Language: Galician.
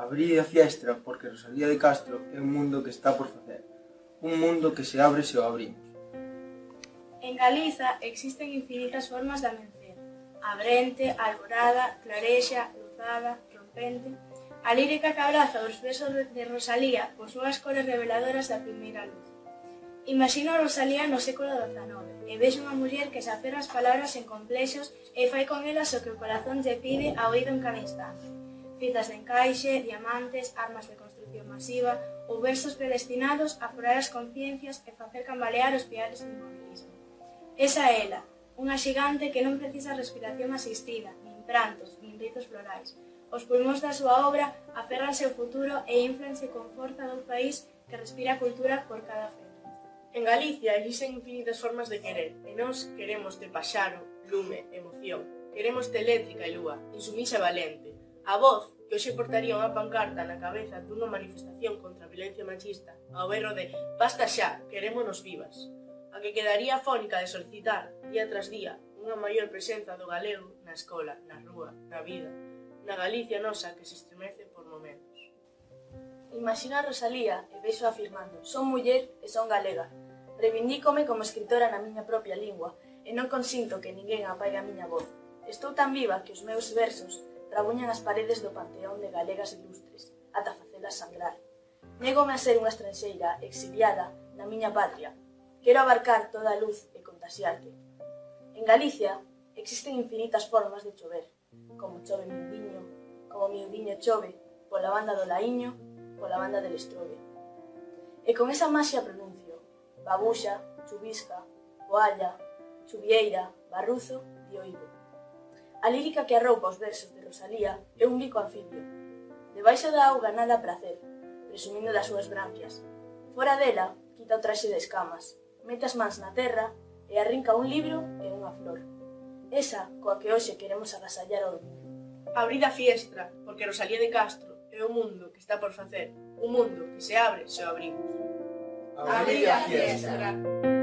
Abrid a fiestra porque Rosalía de Castro é un mundo que está por facer. Un mundo que se abre se o abrimos. En Galiza existen infinitas formas de amencer. Abrente, alborada, clarexa, luzada, rompente. A lírica que abraza os versos de Rosalía posúe as cores reveladoras da primeira luz. Imagino a Rosalía no século XIX e vexo unha muller que se aferra as palabras en complexos e fai con elas o que o corazón lle pide a oído en cada instante. Fitas de encaixe, diamantes, armas de construcción masiva ou versos predestinados a furar as conciencias e facer cambalear os piares do inmobilismo. Esa é ela, unha xigante que non precisa respiración asistida, nin prantos, nin ritos florais. Os pulmóns da súa obra aferranse ao futuro e inflanse con forza dun país que respira cultura por cada fe. En Galicia existen infinitas formas de querer, e nós queremos de paxaro, lume, emoción. Queremos de eléctrica e lúa, insumisa e valente. A voz que hoxe portaría unha pancarta na cabeza dunha manifestación contra a violencia machista ao berro de «Basta xa, querémonos vivas». A que quedaría afónica de solicitar, día tras día, unha maior presenza do galego na escola, na rúa, na vida, na Galicia nosa que se estremece por momentos. Imagino a Rosalía e vexo afirmando «Son muller e son galega». Reivindícome como escritora na miña propia lingua e non consinto que ninguén apaigue a miña voz. Estou tan viva que os meus versos trabuñan as paredes do panteón de galegas ilustres, ata facelas sangrar. Négome a ser unha estranxeira exiliada na miña patria. Quero abarcar toda a luz e contaxiarte. En Galicia existen infinitas formas de chover, como chove miudiño, como miudiño chove, pola banda do Laíño, pola banda del Estrobe. E con esa maxia pronuncio, babuxa, chubisca, poalla, chuvieira, barruzo e oído. A lírica que arroupa os versos de Rosalía é un bico anfibio. Debaixo da auga nada prazer, presumindo das súas branquias. Fora dela, quita o traxe de escamas, mete as mans na terra e arrinca un libro e unha flor. Esa coa que hoxe queremos agasallar ao mundo. Abrid a fiestra, porque Rosalía de Castro é o mundo que está por facer. Un mundo que se abre se o abrimos. Abrid a fiestra.